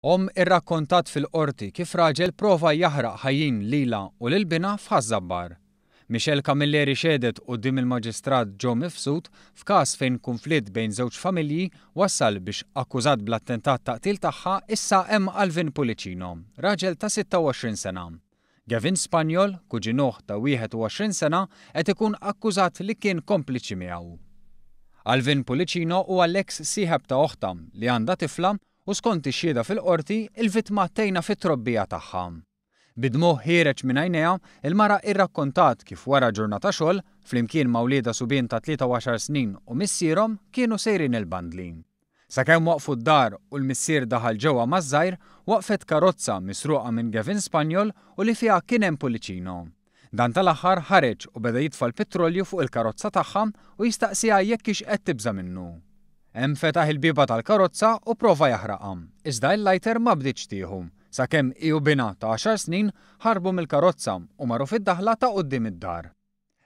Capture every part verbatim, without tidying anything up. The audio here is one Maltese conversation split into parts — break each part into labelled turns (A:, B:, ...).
A: Omm irrakkontat fil-qorti kif raġel prova jaħraq ħajjin lilha u lil binha f'Ħaż-Żabbar. Michelle Camilleri xehdet quddiem il-Maġistrat Joe Mifsud f'każ fejn kunflitt bejn żewġ familji wassal biex akkużat bl-attentat ta' qtil tagħha issa hemm Alvin Pullicino, raġel ta' sitta u għoxrin sena. Gavin Spagnol, kuġinuh ta' wieħed u għoxrin sena, qed ikun akkużat li kien kompliċi miegħu. Alvin Pullicino huwa l-eks sieħeb ta' oħta li għandha tifla u skont ix-xhieda fil-qorti, il-vittma tgħinha fit-trobbija tagħha. Bid-dmugħ ħiereġ minn għajnejha, il-mara irrakkontat kif wara ġurnata xogħol, flimkien ma' wliedha subien ta' tlieta u għaxar snin u missierhom kienu sejrin il-bandli. Sakemm waqfu d-dar u l-missier daħal ġewwa maż-żgħir, waqfet karozza misruqa minn Gavin Spagnol u li fiha kien hemm Pullicino. Dan tal-aħħar ħareġ u beda jitfa' l-petrolju fuq il-karozza tagħha u jistaqsiha jekk hix qed tibża' minnu. Hemm fetaħ il-bieba tal-karozza u prova jaħraqha, iżda il-lighter ma bdietx tieħu, sakemm hi u binha ta' għaxar snin ħarbu mill-karozza u marru fid-daħla ta' quddiem id-dar.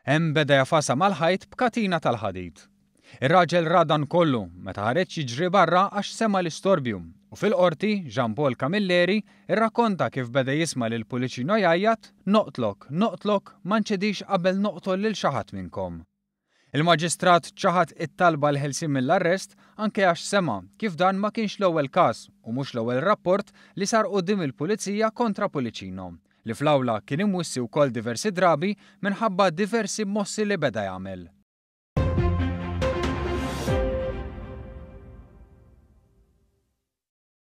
A: Hemm beda jafasa mal-ħajt b'katina tal-ħadid. Ir-raġel ra dan kollu meta ħareġ jiġri barra għax sema l-istorbju u fil-qorti Jean Paul Camilleri irrakkonta kif beda jisma' lil Pullicino jgħajjat noqtlok, noqtlok, ma nċedix qabel noqtol lil xi ħadd minnkom. Il-maġistrat ċaħad it-talba l-ħelsien mill-arrest anke għax sema kif dan ma kienx l-ewwel każ u mhux l-ewwel rapport li sar quddiem il-pulizija kontra Pullicino, li fl-awla kien imwissi wkoll diversi drabi minħabba diversi mossi li beda jagħmel.